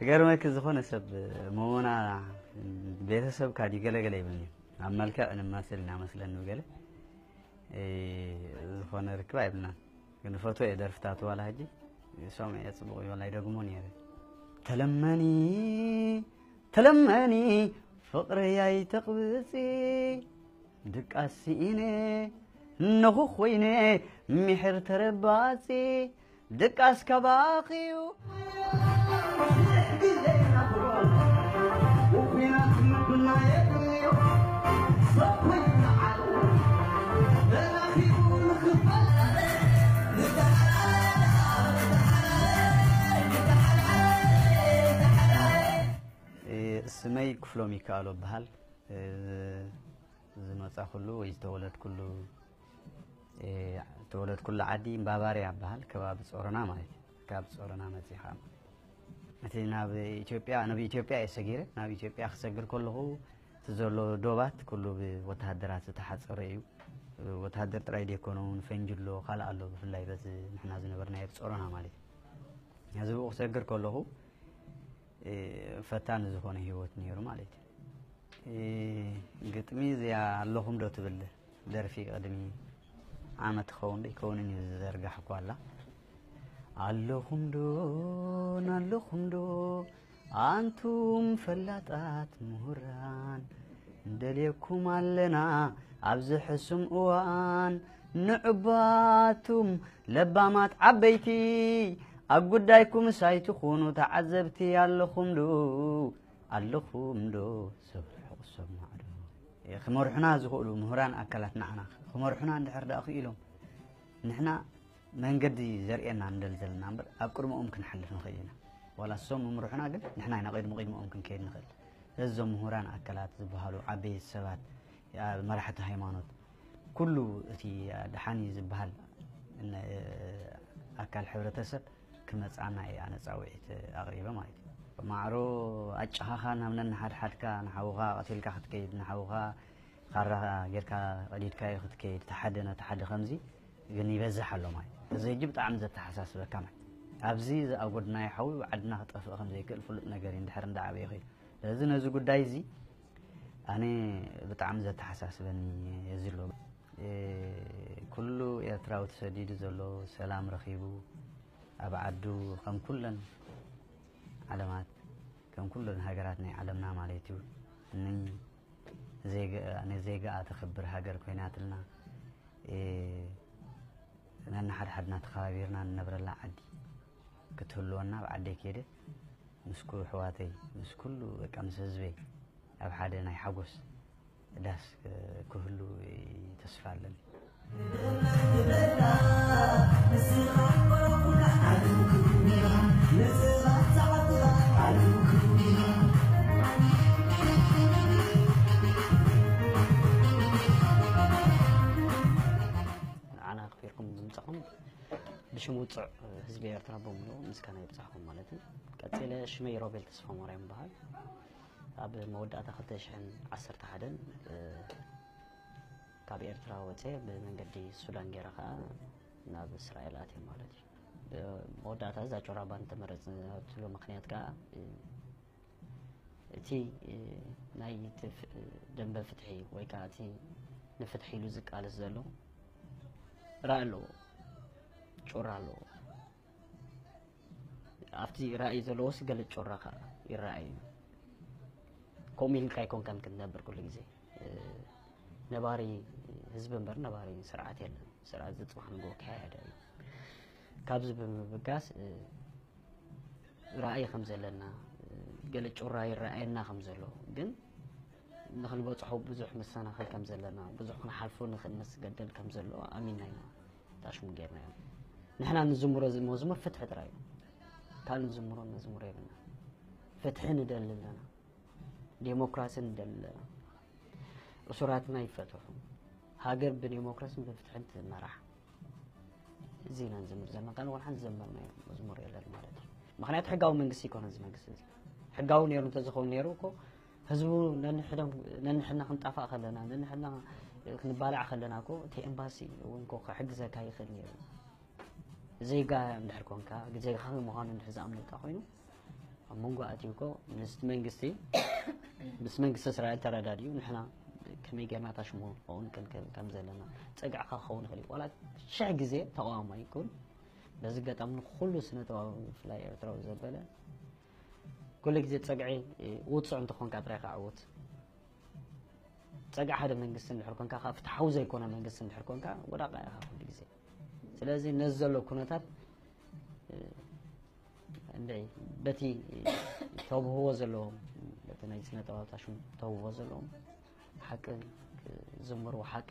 ገርመኪ ዝኾነ ሰብ ሞሞና ቤተሰብካ ድዩ ገለገለ ይብልኒ። ኣብ መልክዕ ንማስል ኢና መስለኒ ብገለ፣ እ፣ ዝኾነ ርክብ ኣይብልናን። ግን ፈትዎ እየ ደርፍታቱ ዋላ ሕጂ ሰምዐ እየ፣ ጽቡቕ እዩ ዋላ ይደግሞ ነይረ። ተለመኒ፣ ተለመኒ ፍቕረይ ኣይተቕብጺ፣ ድቃስ ስኢነ ነኹ ኮይነ፣ ሚሕር ተረባጺ፣ ድቃስ ካባኺዩ። እ፣ ስመይ ክፍሎም ይከኣሎ እበሃል። እ፣ ዝመጻኹሉ ወይ ዝተወለድኩሉ፣ እ፣ ዝተወለድኩሉ ዓዲ ባቫርያ እበሃል፣ ከባቢ ጾሮና ማለት እዩ። ካብ ጾሮና መጺኻ እቲ ናብ ኢትዮጵያ፣ ናብ ኢትዮጵያ እየ ሰጊረ። ናብ ኢትዮጵያ ክሰግር ከለኹ እቲ ዘሎ ዶባት ኩሉ ብወተሃደራት ዝተሓጸረ እዩ። ወተሃደር ጥራይ ደይኮነ እውን ፈንጂ ኣሎ፣ ካልእ ኣሎ፣ ብፍላይ በዚ ንሕና ዝነበርናዮ ጾሮና ማለት እዩ። ነዚ ብኡ ክሰግር ከለኹ፣ እ፣ ፈታኒ ዝኾነ ህይወት ነይሩ ማለት እዩ። እ፣ ግጥሚ እዚኣ ኣለኹም ዶ ትብል ደርፊ ቅድሚ ዓመት ክኸውን ዶ ይከውንን እዩ ዝዘርጋሕኳ ኣላ። ኣለኹም ዶ፣ ኣለኹም ዶ፣ ኣንቱም ፈላጣት ምሁራን፣ ንደልየኩም ኣለና ኣብዚ ሕሱም እዋን። ንዕባቱም ለባማት ዓበይቲ፣ ኣብ ጉዳይኩምስ ኣይትኹኑ ተዓዘብቲ። ኣለኹም ዶ፣ ኣለኹም ዶ፣ ሰብ ርሑቕ ሰብ ማዕዶ። ክመርሑና ዝኽእሉ ምሁራን ኣካላት ንዓና ክመርሑና እንድሕር ደኣ ክኢሎም፣ ንሕና መንገዲ ዘርእየና ንደሊ ዘለና እምበር፣ ኣብ ቅድመኦም ክንሓልፍ ንኽእል ኢና። ዋላ እሶም ምምርሑና፣ ግን ንሕና ኢና ቅድሚ ቅድመኦም ክንከይድ ንኽእል። ስለዚ እዞም ምሁራን ኣካላት ዝበሃሉ ዓበይቲ ሰባት፣ ያ፣ መራሕቲ ሃይማኖት፣ ኩሉ እቲ ደሓን እዩ ዝበሃል ን-፣ ኣካል ሕብረተሰብ ክመጽኣና እየ ኣነ ጻውዒት ኣቕሪበ ማለት እዩ። ማዕሮ ኣጨኻኻ ናብ ነንሓድሓድካ፣ ንሓውኻ ቀቲልካ ክትከይድ፣ ንሓውኻ ካራ ጌርካ ቀዲድካዮ ክትከይድ፣ እቲ ሓደ ነቲ ሓደ ከምዚ ግን ይበዝሕ ኣሎ ማለት እዩ። እዚ ሕጂ ብጣዕሚ ዘተሓሳስበካ ማለት እዩ። ኣብዚ ዝኣጎድናዮ ሓዊ ኣብ ዓድና ክጠፍእ ከም ዘይክእል ፍሉጥ ነገር እዩ፣ እንድሕር እንዳዓበየ ኸይዱ። ስለዚ ነዚ ጉዳይ እዚ ኣነ ብጣዕሚ ዘተሓሳስበኒ እዚ ኣሎ። እ፣ ኩሉ ኤርትራዊ ተሰዲዱ ዘሎ ሰላም ረኺቡ ኣብ ዓዱ ከም ኩለን ዓለማት፣ ከም ኩለን ሃገራት ናይ ዓለምና ማለት እዩ፣ ን-፣ ዜጋ-፣ ንዜጋኣ ተኽብር ሃገር ኮይናትልና፣ እ፣ ነንሓድሓድና ተኸባቢርና ንነብረላ ዓዲ ክትህልወና፣ ኣብ ዓደይ ከይደ ምስ ኩ-፣ ኣሕዋተይ፣ ምስ ኩሉ፣ በቃ፣ ምስ ህዝበይ ኣብ ሓደ ናይ ሓጎስ ዳስ ክህሉ ተስፋ ኣለኒ። ንዓና ኣኽቢርኩም ብምጻኹም ብሽም ውጹዕ ህዝቢ ኤርትራ ብምሉኡ ምስጋና ይብጻሕኩም ማለት እዩ። ቀጺለ ሽመይ ሮቤል ተስፋማርያም ይበሃል። ኣብ መወዳእታ ክልተ ሽሕን ዓሰርተ ሓደን፣ እ፣ ካብ ኤርትራ ወጸ ብመንገዲ ሱዳን ገይረ ከኣ ናብ እስራኤል ኣትየ ማለት እዩ። ብ-፣ መወዳእታ እዛ ጮራ ባንድ ተመረጽናትሉ ምኽንያት ከኣ፣ እ፣ እቲ፣ እ፣ ናይ ትፍ-፣ ደንበ ፍትሒ ወይ ከኣ እቲ ንፍትሒ ኢሉ ዝቃለስ ዘሎ ራኢ ኣለዎ፣ ጮራ ኣለዎ። ኣብቲ ራእይ ዘለዎስ ገለ ጮራ ከኣ ይረኣይ እዩ። ከምኡ ኢልካ ኣይኮንካን ክትነብር ኩሉ ግዜ። እ፣ ነባሪ ህዝቢ እምበር ነባሪ ስርዓት የለን። ስርዓት እዚ ጽባሕ ንግሆ ክያየድ እዩ። ካብዚ ብምብጋስ፣ እ፣ ራእይ ከም ዘለና፣ እ፣ ገለ ጮራ ይረኣየና ከም ዘሎ፣ ግን ንኽንበጽሖ ብዙሕ መሰናኽል ከም ዘለና፣ ብዙሕ ክንሓልፎ ንኽእል መስገደል ከም ዘሎ ኣሚንና ኢና። ታሽሙ ጌርናዮ። ንሕና ንዝምሮ ዝ-፣ መዝሙር ፍትሒ ጥራይ እዩ። ካልእ ንዝምሮ መዝሙር የብልና። ፍትሒ ንደሊ ኣለና። ዴሞክራሲ ንደሊ ኣለና። እሱራትና ይፈትሑ። ሃገር ብዴሞክራስን ብፍትሕን ትመራሕ። እዚ ኢና ንዝምር ዘለና። ካልእ ወላ ሓንቲ ዝዘመርናዮ መዝሙር የለን ማለት እዩ። ምኽንያቱ ሕጋዊ መንግስቲ ኣይኮነን እዚ መንግስቲ እዚ። ሕጋዊ ነይሩ እንተዝኸውን ነይሩ እኮ ህዝቡ ነንሕዶም-፣ ነንሕድና ክንጣፋእ ከለና፣ ነንሕድና ክንባላዕ ከለና እኮ እቲ ኤምባሲ እውን እኮ ክሕግዘካ ይኽእል ነይሩ። ዜጋ እንድሕር ኮንካ፣ ዜጋኻ ምዃኑ እንድሕር ዝኣምነካ ኮይኑ፣ መንጎ ኣትዩ እኮ ምስቲ መንግስቲ ምስ መንግስቲ እስራኤል ተረዳድዩ ንሕና ከመይ ጌርና ታሽሙ ክኸውን ክንክእል ከም ዘለና ጸግዕካ ክኸውን ይኽእል እዩ። ዋላ ሽሕ ግዜ ተቃዋማይ ይኩን በዚ ገጣም ንኩሉ ስነ ጥበባዊ ብፍላይ ኤርትራዊ ዘበለ ኩሉ ግዜ ጸግዒ ውጹዕ እንተኾንካ ጥራይ ከዓውት ጸግዒ ሓደ መንግስቲ እንድሕር ኮንካ ካብ ፍትሓዊ ዘይኮነ መንግስቲ እንድሕር ኮንካ ወዳቃ ኢኻ ኩሉ ግዜ። ስለዚ ነዚ ዘሎ ኩነታት እንደ በቲ ተብህዎ ዘለዎም በቲ ናይ ስነ ጥበብ ታሽሙ ተብህዎ ዘለዎም ሓቂ ክዝምሩ ሓቂ